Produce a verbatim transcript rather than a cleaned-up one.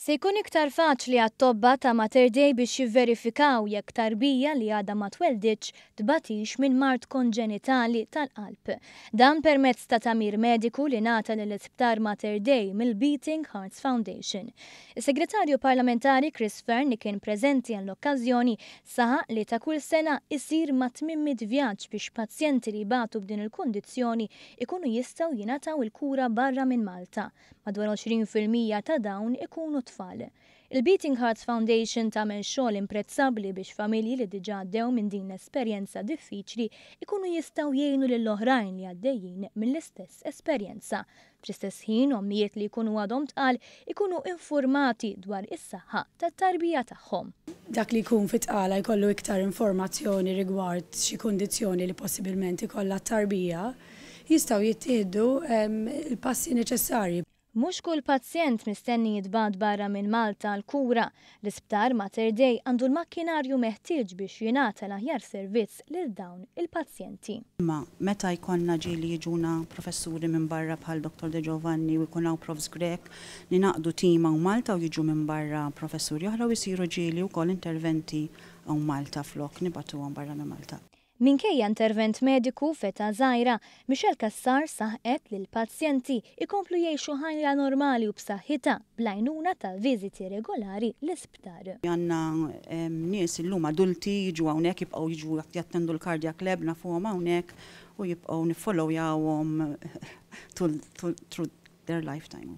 Se jkun iktar faċli għat-tobba ta' Mater Dei biex jivverifikaw jekk tarbija li għadha ma twelditx tbatix minn mard konġenitali tal-qalb. Dan permezz ta' tagħmir mediku li ngħata lill-Isptar Mater Dei mill-Beating Hearts Foundation. Is-Segretarju Parlamentari Chris Fearne, li kien preżenti għall-okkażjoni, saħaq li ta' kull sena isir ma' tmien mitt vjaġġ biex pazjenti li jbatu b'din il-kundizzjoni ikunu jistgħu jingħataw il-kura barra minn Malta. Madwar għoxrin fil-mija ta' dawn ikunu tfal. Il-Beating Hearts Foundation tagħmel xogħol imprezzabbli biex familji li diġà għaddew minn din l-esperjenza diffiċli ikunu jistgħu jgħinu lil oħrajn li għaddejjin mill-istess esperjenza. Fl-istess ħin, ommijiet li jkunu għadhom tqal ikunu informati dwar is-saħħa tat-tarbija tagħhom. Dak li jkun fit-tqala jkollu iktar informazzjoni rigward xi kundizzjoni li possibilment ikollha t-tarbija, jistgħu jittieħdu il-passi neċessarji. Mhux kull pazjent mistenni jintbagħat barra minn Malta għall-kura. L-Isptar Mater Dei għandu l-makkinarju meħtieġ biex jingħata l-aħjar servizz lil dawn il-pazjenti. Ma meta jkollna ġieli jiġuna professuri minn barra bħal Dottor De Giovanni u jkun hawn Profs Grech, ningħaqdu tim hawn Malta u jiġu minn barra professuri oħra u jsiru ġieli wkoll interventi hawn Malta flok nibagħtuhom barra minn Malta. Minkejja intervent mediku f'età żgħira, Michelle Cassar saħqet li l-pazjenti ikomplu jgħixu ħajja normali u b'saħħitha bl-għajnuna ta' viżiti regolari l-isptar. Għandna nies illum adulti jiġu hawnhekk, jibqgħu jiġu jattendu l-cardiac lab, nafuhom hawnhekk u jibqgħu niffollowjawhom through their lifetime.